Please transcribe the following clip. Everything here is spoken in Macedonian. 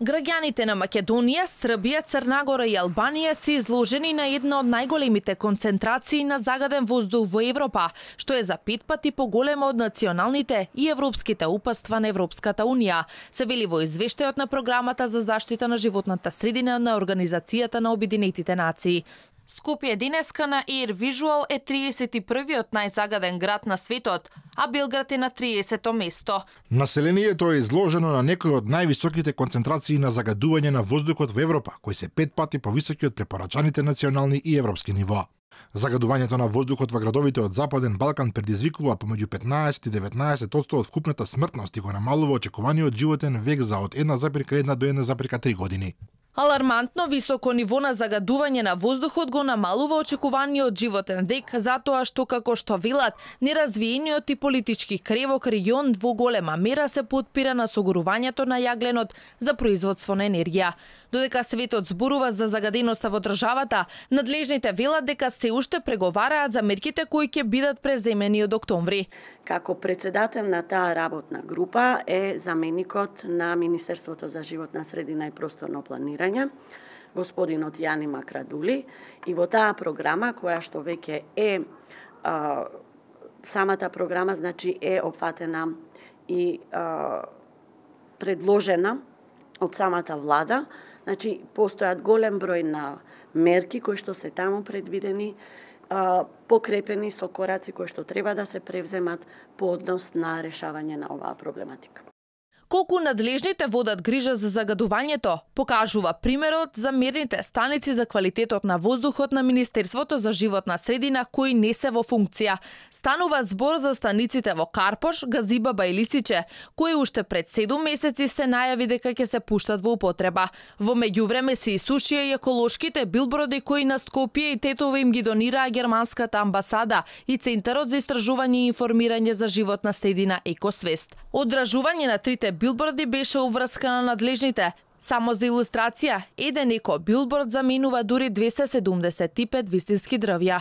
Граѓаните на Македонија, Србија, Црна Гора и Албанија се изложени на една од најголемите концентрации на загаден воздух во Европа, што е за 5 пати поголема од националните и европските упатства на Европската Унија, се вели во извештајот на програмата за заштита на животната средина на Организацијата на Обединетите нации. Скопје денеска на Air Visual е 31-виот најзагаден град на светот, а Белград е на 30-то место. Населението е изложено на некои од највисоките концентрации на загадување на воздухот во Европа, кои се 5 пати повисоки од препорачаните национални и европски нивоа. Загадувањето на воздухот во градовите од Западен Балкан предизвикува помеѓу 15 и 19% од вкупната смртност и го намалува очекуваниот животен век за од 1,1 до 1,3 години. Алармантно високо ниво на загадување на воздухот го намалува очекуваниот животен век, затоа што, како што велат, неразвиениот и политички кревок регион во голема мера се потпира на согорувањето на јагленот за производство на енергија. Додека светот зборува за загаденоста во државата, надлежните велат дека се уште преговараат за мерките кои ќе бидат преземени од октомври. Како председател на таа работна група е заменикот на Министерството за животна средина и просторно планирање, господинот Јани Макрадули, и во таа програма, која што веќе е самата програма, значи е опфатена и предложена од самата влада, значи постојат голем број на мерки кои што се таму предвидени, покрепени со кораци кои што треба да се превземат по однос на решавање на оваа проблематика. Колку надлежните водат грижа за загадувањето, покажува примерот за мерните станици за квалитетот на воздухот на Министерството за животна средина кои не се во функција. Станува збор за станиците во Карпош, Газибаба и Лисиче, кои уште пред 7 месеци се најави дека ќе се пуштат во употреба. Во меѓувреме се исушија и еколошките билборди кои на Скопје и Тетово им ги донираа германската амбасада и Центарот за истражување и информирање за животна средина Екосвест. Одражување на трите билборди беше обврска на надлежните. Само за илустрација, еден еко билборд заменува дури 275 вистински дрвја.